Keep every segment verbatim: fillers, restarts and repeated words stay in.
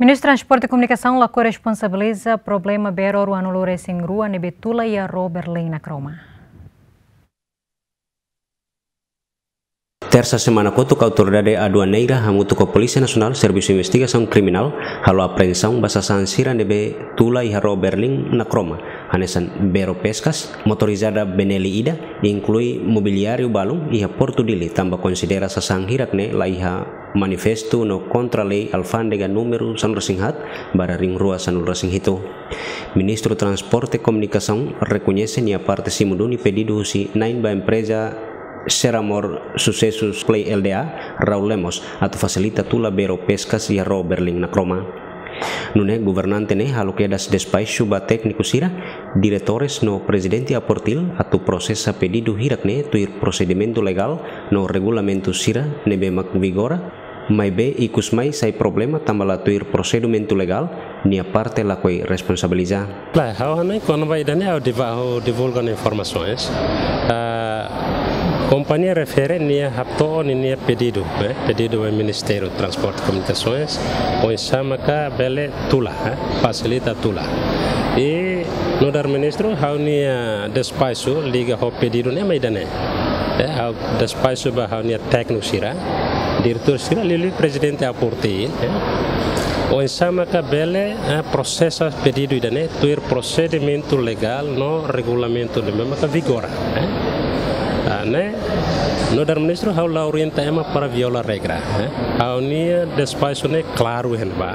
Ministru Transporte Komunikasaun lakohi responsabiliza problema bero ruanulu-resin-rua ne'ebé tula iha Rua Berlin Nakromo. Tersa semana kotuk, Autoridade Aduaneira hamutuk ho Polísia Nasionál, Servisu Investigasaun Kriminál, halo apreensaun ba sasán sira ne'ebé tula iha Rua Berlin Nakromo, hanesan bero peskas, motorizada Benelli ida, inklui mobiliáriu balun iha Portu Dili, tanba konsidera sasán hirak-ne'e la iha manifestu no kontra lei alfándega númeru sanulu-resin-haat barra rihun rua sanulu-resin-hitu. Ministru Transporte Komunikasaun rekoñese nia parte simu duni pedidu husi na'in ba empreza Seramor Susesu Supply L D A, Raul Lemos, atu fasilita tula bero peskas iha Rua Berlin Nakromo. Nune'e governante ne'e halo kedas despaxu ba tékniku sira, diretores no prezidente APORTIL atu prosesa pedidu hirak-ne'e tuir prosedimentu legál no regulamentu sira ne'ebé mak vigora, maibé ikus mai sai problema tanba la tuir prosedimentu legál, nia parte lakohi responsabiliza. Klaru, ha'u hanoin kona-ba ida-ne'e ha'u diva-, ha'u divulga ona informasaun. Ah, kompañia refere nia hato'o ninia pedidu, eh, pedidu ba Ministériu Transporte Komunikasaun, oinsá maka bele tula, eh, fasilita tula. I nu'udar ministru, ha'u-nia despaxu liga ho pedidu ne'e mak ida-ne'e. Eh, ha'u despaxu ba ha'u-nia tékniku sira, diretór sira, liuliu prezidente APORTIL, eh. Oinsá maka bele, eh, prosesa pedidu ida-ne'e tuir prosedimentu legál no regulamentu ne'ebé maka vigora, eh. Ah, ne'e, nu'udar ministru ha'u la orienta ema para viola regra, eh. Ha'u-nia despaxu ne'e klaru iha ne'ebá.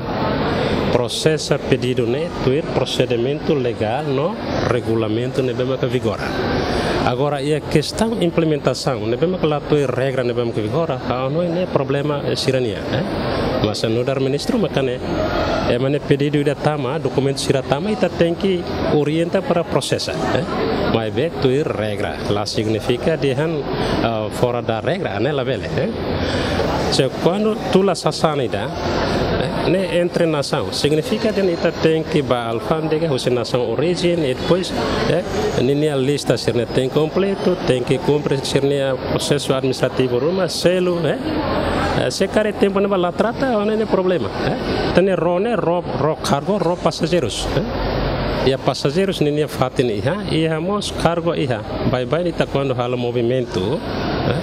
Prosesa pedidu ne'e tuir prosedimentu legál no regulamentu ne'ebé maka vigora. Agora, iha kestaun implementasaun ne'ebé maka la tuir regra ne'ebé maka vigora, ha'u hanoin ne'e problema, eh, sira-nian, eh. Mas nu'udar ministru maka ne'e, ema ne'e pedidu ida tama, dokumentu sira tama, ita tenke orienta para prosesa, eh. Maibé tuir regra, la signifika dehan, eh, fora da regra, ne'e labele, eh. Se kuandu tula sasán ida, eh, ne'e entre nasaun, signifika dehan ita tenke ba alfándega husi nasaun orijen, i depois, eh, ninia lista sira-ne'e tenke kompletu, tenke kumpre sira-nia prosesu administrativu ruma, selu, eh. Eh, se karik tempu ne'ebá la trata, ha'u hanoin ne'e problema, eh. Ita-nia ró ne'e ró, ró kargu, ró pasajeirus, eh. Iha pasajeirus ninia fatin iha, iha mós kargu iha. Baibain ita kuandu halo movimentu, eh,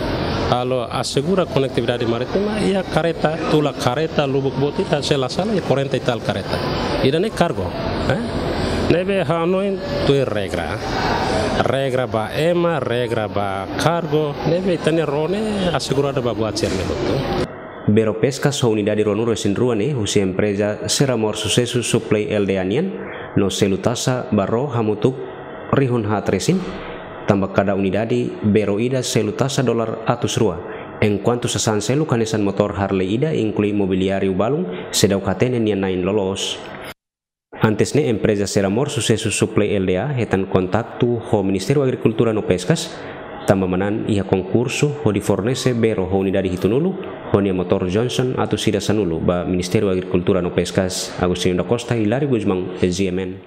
halo asegura konetividade marítima, iha karreta, tula karreta, lubuk boot ita, se la sala, iha quarenta e tal karreta. Ida-ne'e kargu, eh? Ne'ebé ha'u hanoin tuir regra. Regra ba ema, regra ba kargu, ne'ebé ita-nia ró ne'e aseguradu ba buat sira-ne'e hotu. Bero peskas ho unidade ruanulu-resin-rua ne'e husi empreza Seramor Susesu Supply L D A nian, no selu taxa ba ró hamutuk rihun haat resin, tanba kada unidade bero ida selu taxa dolar atus rua, enkuantu sasán seluk hanesan motór Harley ida, inklui mobiliáriu balun, seidauk hatene nia na'in loloos. Antes ne'e, empreza Seramor Susesu Supply L D A hetan kontaktu ho Ministériu Agrikultura no Peskas, tanba manán iha konkursu hodi fornese bero ho unidade hitunulu, ho nia motór Johnson atus ida sanulu ba Ministériu Agrikultura no Peskas. Agostinho da Costa, Hilário Gusmão, G M N.